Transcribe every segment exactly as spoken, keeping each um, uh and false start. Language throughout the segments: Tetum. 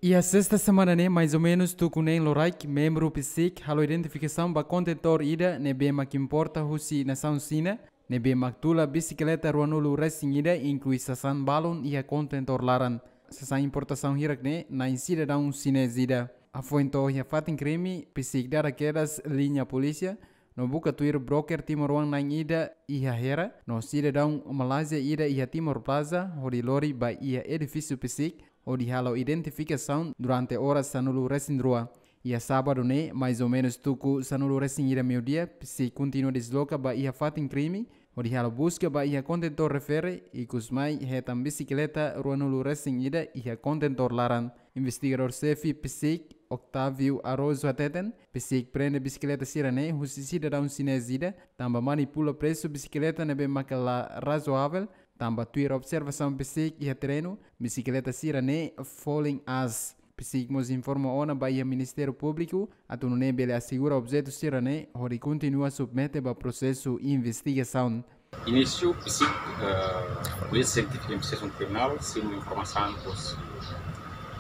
Iha sesta semana ne'e, mais ou menus tuku neen loraik, membru PCIC halo identifikasaun ba kontentór ida ne'ebé mak importa husi nasaun Xina, ne'ebé mak tula bisikleta ruanulu resin ida, inklui sasán balun iha kontentór laran. Sasán importasaun hirak ne'e na'in sidadaun xinés ida. Hafoin to'o iha fatin krime, PCIC dada kedas liña polísia, no buka tuir broker timoroan na'in ida iha Hera, no sidadaun Malázia ida iha Timor Plaza, hodi lori ba iha edifísiu PCIC, hodi halo identifikasaun durante oras sanulu resin rua. Iha sábadu ne'e, mais ou menus tuku sanulu resin ida meiudia, PCIC kontinua desloka ba iha fatin krime, hodi halo buska ba iha kontentór refere, ikusmai hetan bisikleta ruanulu resin ida iha kontentór laran. Investigadór xefe PCIC, Octávio Araújo hateten, PCIC prende bisikleta sira-ne'e husi sidadaun xinés ida, tanba manipula presu bisikleta ne'ebé maka la razoavel, tanba tuir observasaun PCIC iha terrenu, bisikleta sira-ne'e folin aas. PCIC mós informa ona ba iha Ministériu Públiku, atu nune'e bele asegura objetu sira-ne'e, hodi kontinua submete ba prosesu investigasaun. Inísiu, PCIC, eh, Polísia Sientífika Investigasaun Kriminál, simu informasaun husi,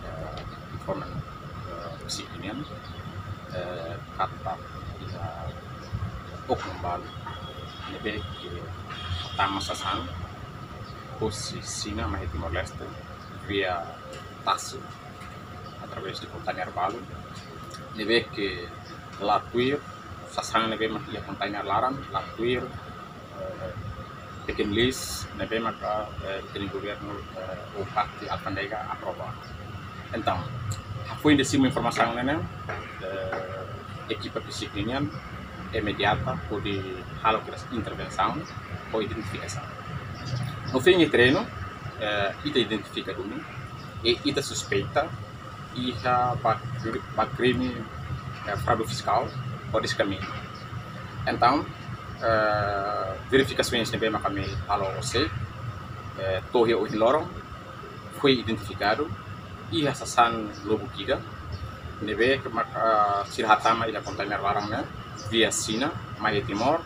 eh, informan, eh, PCIC nian, eh, katak iha oknum balu ne'ebé ke tama sasán husi Xina mai Timor-Leste via tasi, através de kontainer balu, ne'ebé ke la tuir sasán ne'ebé mak iha kontainer laran, la tuir, eh, pekin lis ne'ebé maka, eh, pekin governu, eh, ou parte alfándega aprova. Entaun, hafoin de simu informasaun ne'e, eh, ekipa PCIC nian imediata hodi halo kedas intervensaun ho identifikasaun. No fin iha terrenu, eh, ita identifika duni, i ita suspeita iha ba, ba krime, eh, fraude fiskál ho diskriminasaun. Entaun, eh, verifikasaun ne'ebé maka ami halo hosi, eh, to'o iha ohin loron, foi identifikadu iha sasán lubuk ida ne'ebé ke maka, ah, sira hatama iha kontainer laran ne'e via Xina mai Timor,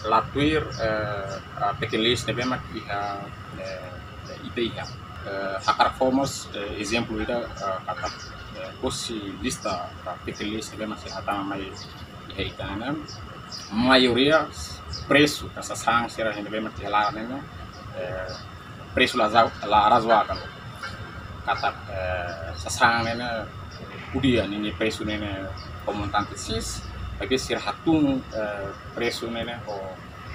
la tuir, eh, ah, pekin lis ne'ebé mak iha, eh, ita iha. Eh, hakarak fó mós, eh, ezemplu ida, eh, katak, eh, husi lista, ah, pekin lis ne'ebé mak sira hatama mai iha ita ne'e, maioria presu ka sasán sira ne'ebé mak iha laran ne'e, eh, presu la zau-, la razoavel. Katak, eh, sasán ne'e, ne'e, ko'alia ninia presu ne'e, ne'e ho montante X, maibé sira hatún, eh, presu ne'e, ne'e ho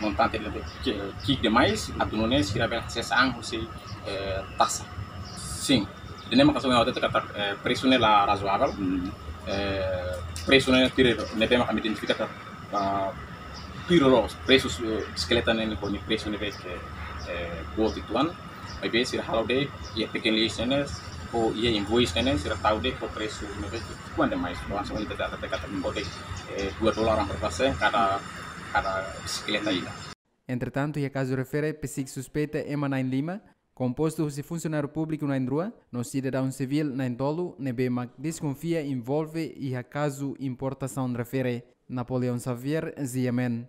montante ne'e ke, ki'ik demais, atu nune'e sira bele hasees an husi, eh, taxa. Sin. Ida-ne'e maka soalnya katak, eh, presu ne'e la razoavel. Hmm. Eh, presu ne'e tuir ne'ebé maka ami identifika katak, ah, tuir loos, presu, eh, bisikleta ne'e ho nia presu ne'ebé ke, eh, boot uitoan. Maibé sira halo de'it iha pekin lis ne'e, ou iha invoice ne'e, sira tau de'it ho presu ne'ebé ke kuandu mais, langsung ita data katak, eh, dua dolar hampir persen kada, kada bisikleta ida. Entretantu, iha kazu refere PCIC suspeita ema na'in lima, kompostu husi funsionáriu públiku na'in rua, no sidadaun sivíl na'in tolu, ne'ebé mak deskonfia envolve iha kazu importasaun refere. Napoleão Xavier, G M N.